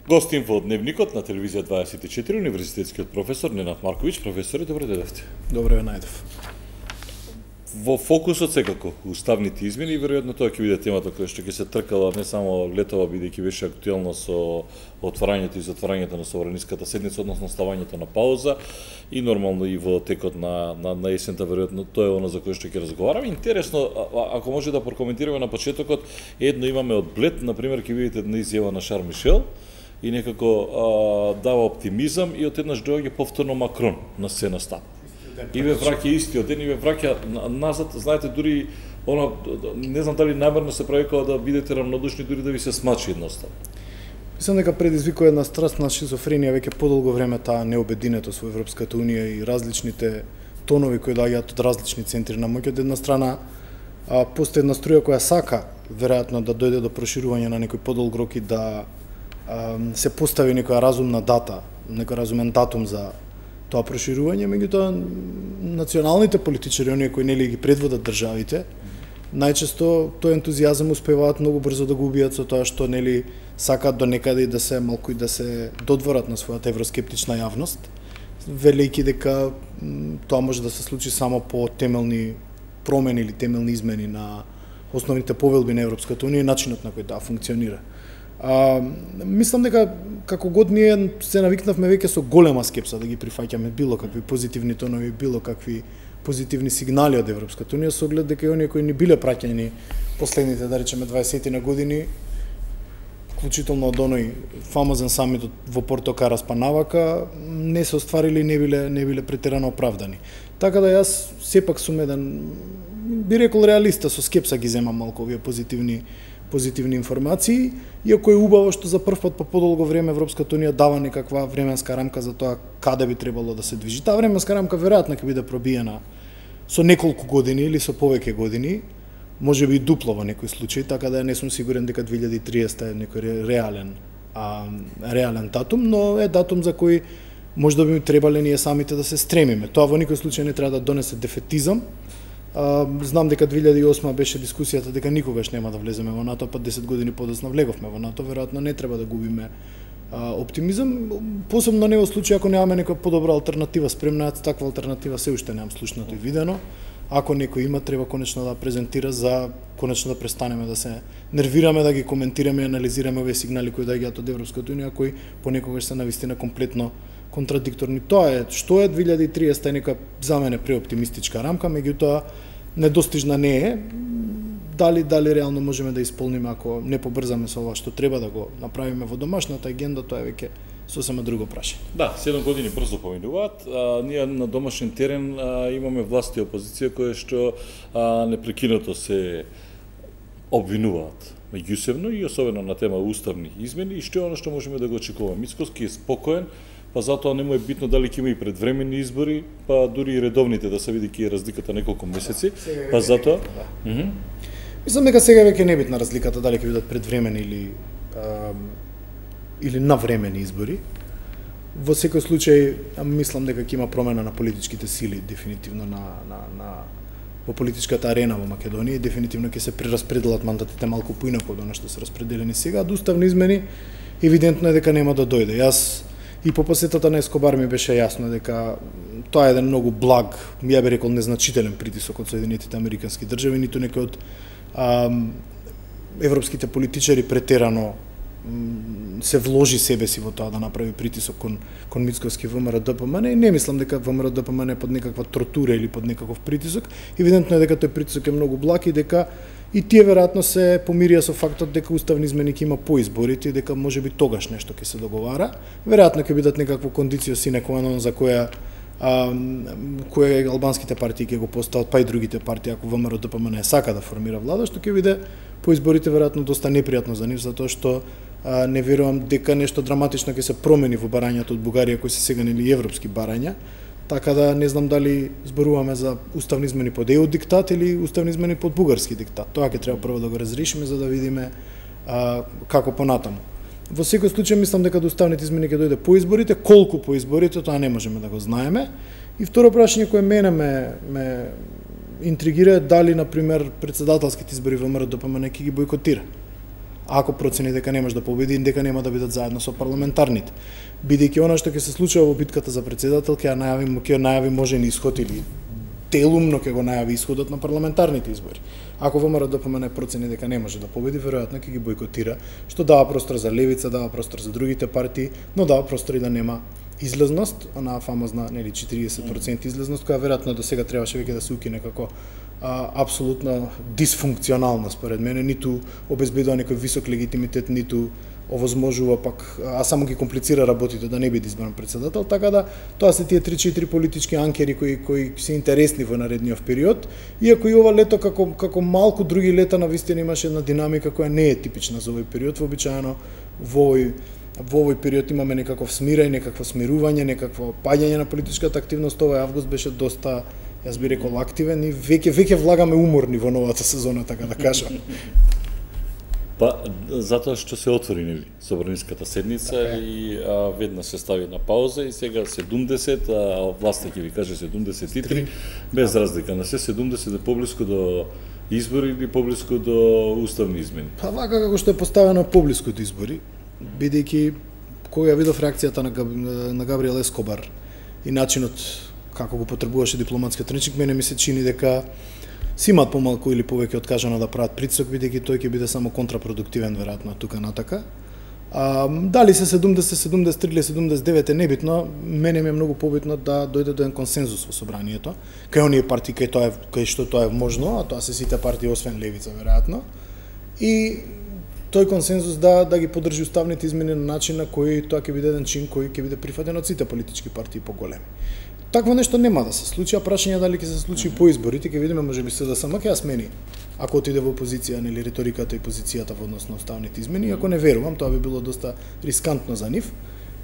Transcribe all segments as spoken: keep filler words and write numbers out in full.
Гостин во Дневникот на телевизија дваесет и четири, универзитетскиот професор Ненад Марковиќ. Професоре, добро дојдовте. Добро ве најдов. Во фокусот секако уставните измени и веројатно тоа ќе биде темата која што ќе се тркала не само летова, бидејќи беше актуелно со отварањето и затварањето на собраниската седница, односно ставањето на пауза и нормално и во текот на на, на есента, веројатно тоа е она за кое што ќе разговараме. Интересно, а, ако може да прокоментираме на почетокот, едно имаме од Блед, на пример, ќе видите една изјава на Шарл Мишел и некако а, дава оптимизам и отеднаш доаѓа повторно Макрон на сцената. И ве враќа истиот ден и ве враќа назад, знаете, дури она, не знам дали намерно се прави кога да бидете равнодушни, дури да ви се смачи едноставно. Мислам дека предизвикува една страстна шизофренија веќе подолго време таа необединетост во Европската унија и различните тонови кои доаѓаат од различни центри на моќ. Од една страна а, постои една струја која сака веројатно да дојде до проширување на некој подолг рок и да а, се постави некоја разумна дата, некој разумен датум за тоа проширување, меѓутоа националните политичари, оние кои нели ги предводат државите, најчесто тој ентузијазам успеваат многу брзо да го убијат со тоа што нели сакаат до некаде и да се малку и да се додворат на својата евроскептична јавност, велејќи дека тоа може да се случи само по темелни промени или темелни измени на основните повелби на Европската унија и начинот на кој таа функционира. А, мислам дека како год ние се навикнавме веќе со голема скепса да ги прифаќаме било какви позитивни тонови, било какви позитивни сигнали од Европската унија, со оглед дека и оние кои ни биле праќани последните, да речеме, дваесет на години, вклучително од оној фамозен самит во Порто Карас па навака, не се остварили и не биле не биле претерано оправдани. Така да јас сепак сум еден, би рекол, реалиста, со скепса ги земам малку овие позитивни позитивни информации, иако е убаво што за прв пат по подолго време Европската унија дава некаква временска рамка за тоа каде би требало да се движи. Таа временска рамка веројатно ќе биде пробиена со неколку години или со повеќе години, можеби и дупло во некој случај, така да не сум сигурен дека две илјади и триесета е некој реален а, реален датум, но е датум за кој може да би требале ние самите да се стремиме. Тоа во никој случај не треба да донесе дефетизам. Uh, знам дека две илјади и осма беше дискусијата дека никогаш нема да влеземе во НАТО, па десет години подоцна влеговме во НАТО, веројатно не треба да губиме uh, оптимизам, посебно не во случај ако немаме некоја подобра алтернатива спремна, таква алтернатива се уште немам слушнато и видено. Ако некој има, треба конечно да презентира за конечно да престанеме да се нервираме, да ги коментираме и анализираме овие сигнали кои доаѓаат од Европската унија, кои понекогаш се навистина комплетно контрадикторни. Тоа е што е две илјади и триесета е нека за мене преоптимистичка рамка, меѓутоа недостижна не е. Дали дали реално можеме да исполниме ако не побрзаме со ова што треба да го направиме во домашната агенда, тоа е веќе сосема друго прашање. Да, седум години брзо поминуваат. А, ние на домашен терен а, имаме власт и опозиција кои што а, непрекинато се обвинуваат меѓусебно и особено на тема уставни измени и што е оно што можеме да го очекуваме. Мицкоски е спокоен, па затоа не му е битно дали ќе има и предвремени избори, па дури и редовните да се види ки е разликата неколку месеци, па затоа. Да. Mm -hmm. Мислам дека сега веќе не е битна разликата дали ќе бидат предвремени или а, или навремени избори. Во секој случај мислам дека ќе има промена на политичките сили, дефинитивно на на на во политичката арена во Македонија и дефинитивно ќе се прераспределат мандатите малку поинаку од она што се распределени сега. Од уставни измени евидентно е дека нема да дојде. Јас и по посетата на Ескобар ми беше јасно дека тоа е еден многу благ, ја би рекол незначителен притисок од Соединетите Американски држави, ниту некој од а, европските политичари претерано се вложи себе си во тоа да направи притисок кон кон Мицковски ВМРО-ДПМН и не мислам дека ВМРО-ДПМН е под некаква тортура или под некаков притисок. Евидентно е дека тој притисок е многу благ и дека и тие веројатно се помирија со фактот дека уставни измени ќе има по изборите и дека можеби тогаш нешто ќе се договара. Веројатно ќе бидат некакво кондицио sine qua non за која а, која албанските партии ќе го постават, па и другите партии ако ВМРО-ДПМН сака да формира влада, што ќе биде по изборите веројатно доста непријатно за нив, затоа што а, не верувам дека нешто драматично ќе се промени во барањето од Бугарија кои се сега нели европски барања. Така да не знам дали зборуваме за уставни измени под е у диктат или уставни измени под бугарски диктат. Тоа ќе треба прво да го разрешиме за да видиме а, како понатаму. Во секој случај мислам дека до уставните измени ќе дојде по изборите, колку по изборите тоа не можеме да го знаеме. И второ прашање кое мене ме, ме интригира е дали на пример председателските избори во ВМРО-ДПМН ќе ги бойкотира. ако процени дека не може да победи, дека нема да бидат заедно со парламентарните. Бидејќи она што ќе се случува во битката за председател, ќе ја најави, ќе најави можен исход или делумно ќе го најави исходот на парламентарните избори. Ако ВМРО д П М Н процени дека не може да победи, веројатно ќе ги бойкотира, што дава простор за левица, дава простор за другите партии, но дава простор и да нема излезност, она фамозна нели четириесет проценти излезност, која веројатно до сега требаше веќе да се укине како а, апсолутно дисфункционална според мене, ниту обезбедува некој висок легитимитет, ниту овозможува пак, а само ги комплицира работите да не биде избран председател, така да тоа се тие три-четири политички анкери кои кои се интересни во наредниот период, иако и ова лето како како малку други лета навистина имаше една динамика која не е типична за овој период, вообичаено во овој во овој период имаме некаков смирај, некакво смирување, некакво паѓање на политичката активност. Овој август беше доста, јас би рекол, активен и веќе веќе влагаме уморни во новата сезона, така да кажам. Па, затоа што се отвори нели собраниската седница така и а, веднаш се стави на пауза и сега седумдесет, а власта ќе ви каже седумдесет и три, без разлика на се седумдесет е поблиску до избори или поблиску до уставни измени. Па вака како што е поставено поблиску до избори, бидејќи кога ја видов реакцијата на, Габ... на Габриел Ескобар и начинот како го потребуваше дипломатскиот речник, мене ми се чини дека си имаат помалку или повеќе откажано да прават притисок, бидејќи тој ќе биде само контрапродуктивен веројатно тука натака. А, дали се седумдесет, седумдесет и три или седумдесет и девет е небитно, мене ми е многу побитно да дојде до еден консензус во собранието, кај оние партии кај тоа е, кај што тоа е можно, а тоа се сите партии освен левица веројатно. И тој консензус да да ги поддржи уставните измени на начин на кој тоа ќе биде еден чин кој ќе биде прифатен од сите политички партии поголеми. Такво нешто нема да се случи, а прашање дали ќе се случи mm -hmm. по изборите, ќе видиме можеби се да само ќе ја смени. Ако отиде во опозиција, нели риториката и позицијата во однос на уставните измени, ако не верувам, тоа би било доста рискантно за нив.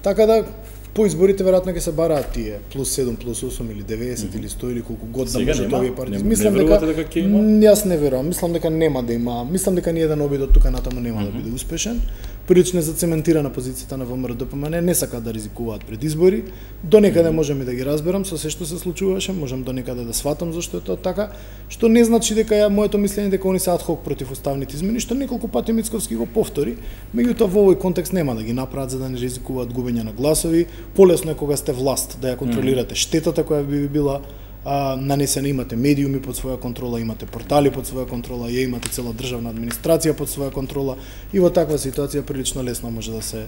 Така да по изборите веројатно ќе се бараат тие плюс седум, плюс осум или деветдесет mm -hmm. или сто или колку год да може овие партии. Мислам не дека, дека ќе има? Јас не верувам, мислам дека нема да има. Мислам дека ни еден обид од тука натаму нема mm -hmm. да биде успешен. Прилично зацементирана позицијата на ВМРО д П М Н, не сакаат да ризикуваат пред избори. До некаде можам и да ги разберам со се што се случуваше, можам до некаде да сватам зашто е тоа така, што не значи дека ја моето мислење дека они се адхок против уставните измени, што неколку пати Мицковски го повтори, меѓутоа во овој контекст нема да ги направат за да не ризикуваат губење на гласови. Полесно е кога сте власт да ја контролирате штетата која би била а, нанесена, имате медиуми под своја контрола, имате портали под своја контрола, ја имате цела државна администрација под своја контрола и во таква ситуација прилично лесно може да се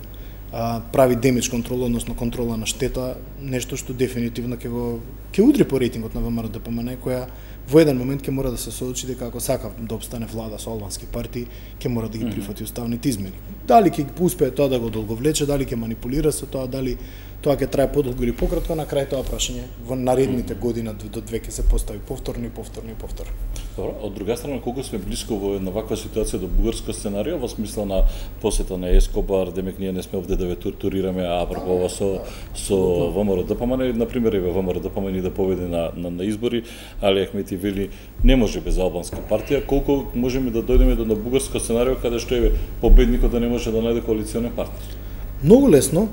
а, прави демидж контрола, односно контрола на штета, нешто што дефинитивно ќе го ќе удри по рейтингот на ВМРО д П М Н, која во еден момент ќе мора да се соочи дека ако сака да обстане влада со албански партии, ќе мора да ги прифати уставните измени. Дали ќе успее тоа да го долговлече, дали ќе манипулира со тоа, дали тоа ќе трае подолго или пократко, на крај тоа прашање во наредните години до две ќе се постави повторно и повторно и повторно. Добро, од друга страна, колку сме блиско во една ваква ситуација до бугарско сценарио, во смисла на посета на Ескобар, демек ние не сме овде да ве тортурираме, а апропо ова со со ВМРО д П М Н, на пример еве ВМРО д П М Н да победи на, на на избори, Али Ахмети вели не може без албанска партија, колку можеме да дојдеме до на бугарско сценарио каде што еве победникот да не може да најде коалиционен партнер? Многу лесно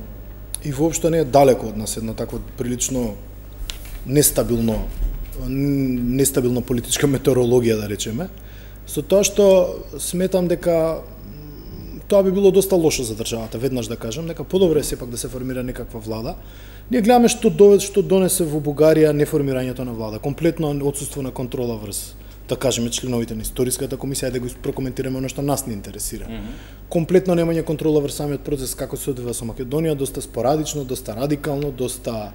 и воопшто не е далеко од нас едно такво прилично нестабилно нестабилна политичка метеорологија, да речеме, со тоа што сметам дека тоа би било доста лошо за државата, веднаш да кажам, дека подобро е сепак да се формира некаква влада. Ние гледаме што довед, што донесе во Бугарија неформирањето на влада, комплетно отсуство на контрола врз, да кажеме, членовите на историската комисија, да го прокоментираме оно што нас не интересира. Mm -hmm. Комплетно немање контрола врз самиот процес како се одвива со Македонија, доста спорадично, доста радикално, доста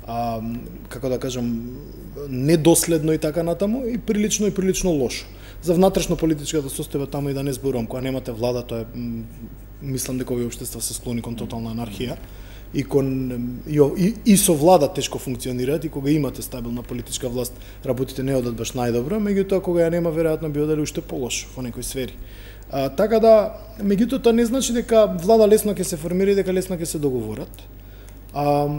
а, како да кажам, недоследно и така натаму, и прилично и прилично лошо. За внатрешно политичката состојба таму и да не зборувам, кога немате влада, тоа е, мислам дека овие општества се склони кон тотална анархија, и кон и, и, и со влада тешко функционираат, и кога имате стабилна политичка власт, работите не одат баш најдобро, меѓутоа кога ја нема, веројатно би одели уште полошо во некои сфери. А, така да, меѓутоа тоа не значи дека влада лесно ќе се формира и дека лесно ќе се договорат. А,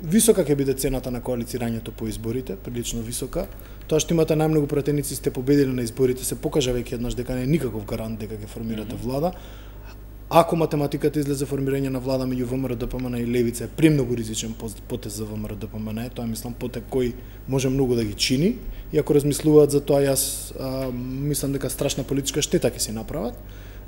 висока ќе биде цената на коалицирањето по изборите, прилично висока. Тоа што имате најмногу пратеници сте победили на изборите, се покажа веќе еднаш дека не е никаков гарант дека ќе формирате влада. Ако математиката излезе формирање на влада меѓу ВМРО д П М Н и Левица е премногу ризичен потез за ВМРО д П М Н, тоа мислам потек кој може многу да ги чини, и ако размислуваат за тоа, јас а, мислам дека страшна политичка штета ќе се направат.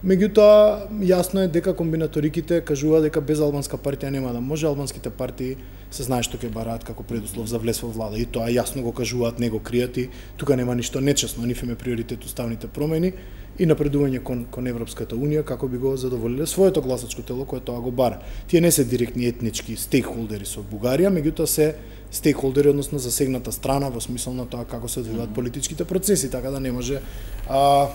Меѓутоа, јасно е дека комбинаториките кажуваат дека без албанска партија нема да може. Албанските партии се знае што ќе бараат како предуслов за влез во влада и тоа јасно го кажуваат, не го кријат и тука нема ништо нечесно. Нив им е приоритет уставните промени и напредување кон, кон Европската Унија како би го задоволиле своето гласачко тело кое тоа го бара. Тие не се директни етнички стейкхолдери со Бугарија, меѓутоа се стейкхолдери, односно засегната страна во смисол на тоа како се одвиваат mm -hmm. политичките процеси, така да не може а,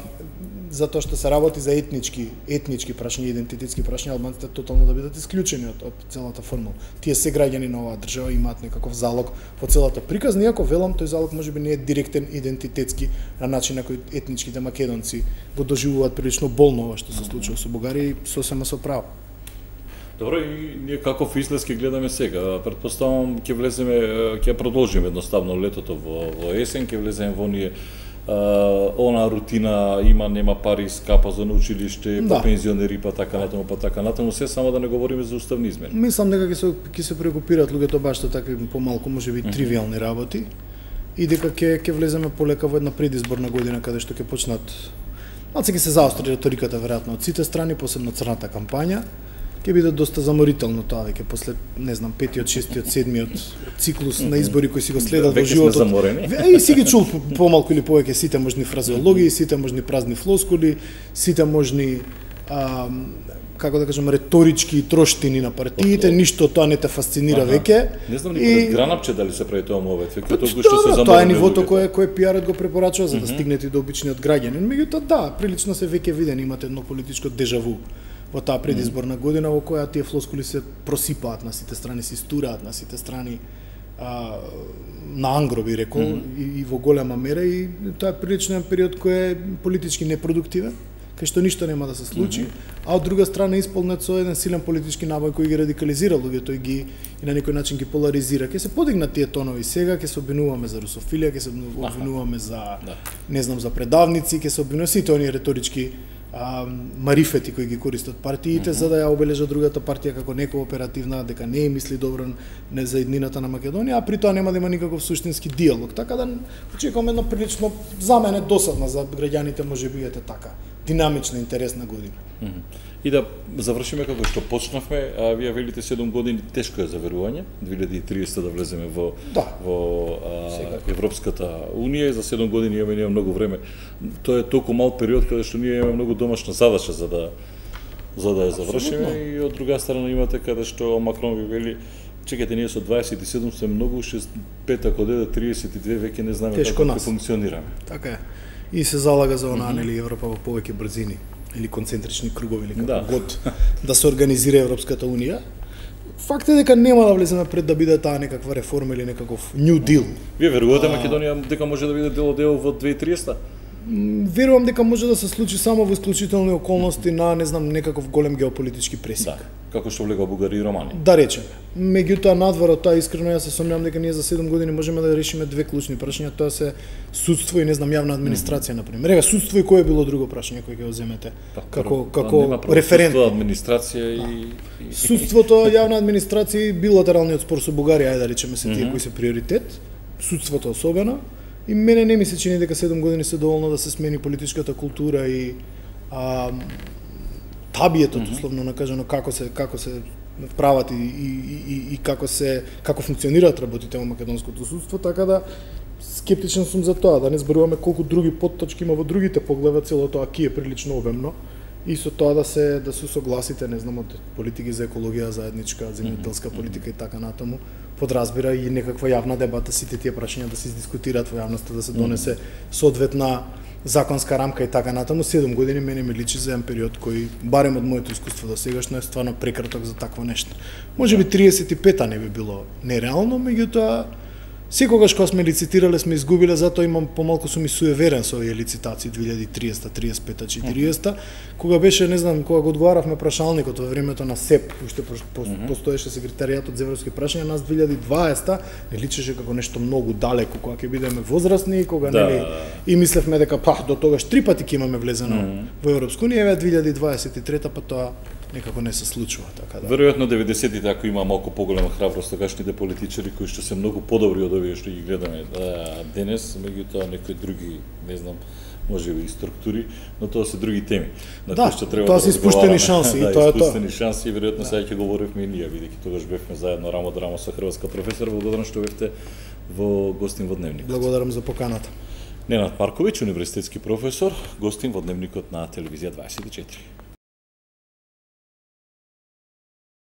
затоа што се работи за етнички, етнички прашања, идентитетски прашања, албанците тотално да бидат исклучени од, од целата формула. Тие се граѓани на оваа држава, имаат некаков залог во целата приказна, иако велам тој залог можеби не е директен идентитетски на начин на кој етничките македонци го доживуваат прилично болно ова што се случува со Бугарија и сосема со право. Добро, и ние каков излез ќе гледаме сега? Претпоставам ќе влеземе, ќе продолжиме едноставно летото во, во есен, ќе влеземе во ние Uh, она рутина, има нема пари, скапа за училиште, да. Па пензионери, па така натаму, па така натаму, се само да не говориме за уставни измени. Мислам дека ќе се ќе се преокупираат луѓето баш со такви помалку можеби mm -hmm. тривијални работи и дека ќе ќе влеземе полека во една предизборна година каде што ќе почнат малце ќе се заостри реториката веројатно од сите страни, посебно црната кампања. Ќе биде доста заморително тоа веќе после, не знам, петиот, шестиот, седмиот циклус на избори кои си го следат во животот. И си ги чул помалку или повеќе сите можни фразеологии, сите можни празни флоскули, сите можни а, како да кажам реторички троштини на партиите, ништо тоа не те фасцинира ага. веќе. Не знам ни пред Гранапче дали се прави тоа мовет, веќе тоа што се заморено. Тоа е нивото кое кое пиарот го препорачува за да стигнете до обичниот граѓанин. Меѓутоа да, прилично се веќе видени, имате едно политичко дежаву во таа предизборна година во која тие флоскули се просипаат на сите страни, се истураат на сите страни а, на ангро би рекол mm -hmm. и, и во голема мера и тоа е прилично период кој е политички непродуктивен, кај што ништо нема да се случи, mm -hmm. а од друга страна исполнет со еден силен политички набој кој ги радикализира луѓето и ги и на некој начин ги поларизира. Ке се подигнат тие тонови сега, ке се обвинуваме за русофилија, ке се обвинуваме за не знам за предавници, ке се обвинуваме сите оние реторички а, марифети кои ги користат партиите mm -hmm. за да ја обележат другата партија како некооперативна, дека не мисли добро не за еднината на Македонија, а при тоа нема да има никаков суштински диалог. Така да очекувам едно прилично за мене досадна, за граѓаните можеби ете така динамична, интересна година. Mm -hmm. И да завршиме како што почнавме, а вие велите седум години тешко е за верување, две илјади и триесета да влеземе во да. во а, Европската Унија и за седум години имаме ние многу време. Тоа е толку мал период каде што ние имаме многу домашна задача за да за да ја завршиме. Абсолютно. И од друга страна имате каде што Макрон ви вели чекате, ние со дваесет и седум сме многу, шест пет ако дојде триесет и две веќе не знаеме како ќе функционираме. Така е. И се залага за онаа, нели, Европа во повеќе брзини или концентрични кругови или како да. год да се организира Европската Унија. Факт е дека нема да влеземе пред да биде таа некаква реформа или некаков New Deal. Вие верувате Македонија дека може да биде дел од ЕУ во две илјади и триесета? Верувам дека може да се случи само во исклучителни околности на, не знам, некаков голем геополитички пресик. Да, како што влегува Бугарија и Романија. Да речеме. Меѓутоа надвор од тоа искрено јас се сомневам дека ние за седум години можеме да решиме две клучни прашања, тоа се судство и не знам јавна администрација на пример. Ева судство и кое било друго прашање кое ќе го земете да, како како референтно. Администрација и, и судството, јавна администрација и билатералниот спор со Бугарија, ајде да речеме се тие mm -hmm. кои се приоритет, судството особено. И мене не ми се чини дека седум години се доволно да се смени политичката култура и а, табието, mm -hmm. условно накажано, како се како се прават и, и, и, и како се како функционираат работите во македонското судство, така да скептичен сум за тоа, да не зборуваме колку други потточки има во другите погледа, целото тоа ки е прилично обемно и со тоа да се да се согласите, не знам, од политики за екологија, заедничка земјоделска политика и така натаму, подразбира и некаква јавна дебата, сите тие прашања да се издискутираат во јавноста, да се донесе соодветна законска рамка и така натаму. седум години мене ми личи за еден период кој, барем од моето искуство до сегашно, е стварно прекраток за такво нешто. Можеби триесет и пета не би било нереално, меѓутоа секогаш кога сме лицитирале сме изгубиле, затоа имам помалку сум и суеверен со овие лицитации две илјади и триесета, триесет и пета, четириесета, кога беше, не знам, кога го одговаравме прашалникот во времето на СЕП, уште постоеше секретаријатот за европски прашања, нас две илјади и дваесета не личеше како нешто многу далеко, кога ќе бидеме возрастни, кога да. нели и мислевме дека па до тогаш три пати ќе имаме влезено mm -hmm. во Европска унија, еве две илјади дваесет и трета па тоа некако не се случува, така да. Веројатно деветдесетите ако има малку поголема храброст тогашните политичари кои што се многу подобри од овие што ги гледаме да, денес, меѓутоа некои други, не знам, може би и структури, но тоа се други теми. На Да, што треба тоа да се испуштени разговараме. шанси, да, и тоа е тоа. испуштени шанси и веројатно сега ќе говоривме и ние, бидејќи тогаш бевме заедно рамо до рамо со хрватска професор. Благодарам што бевте во гостин во Дневникот. Благодарам за поканата. Ненад Марковиќ, универзитетски професор, гостин во Дневникот на Телевизија дваесет и четири.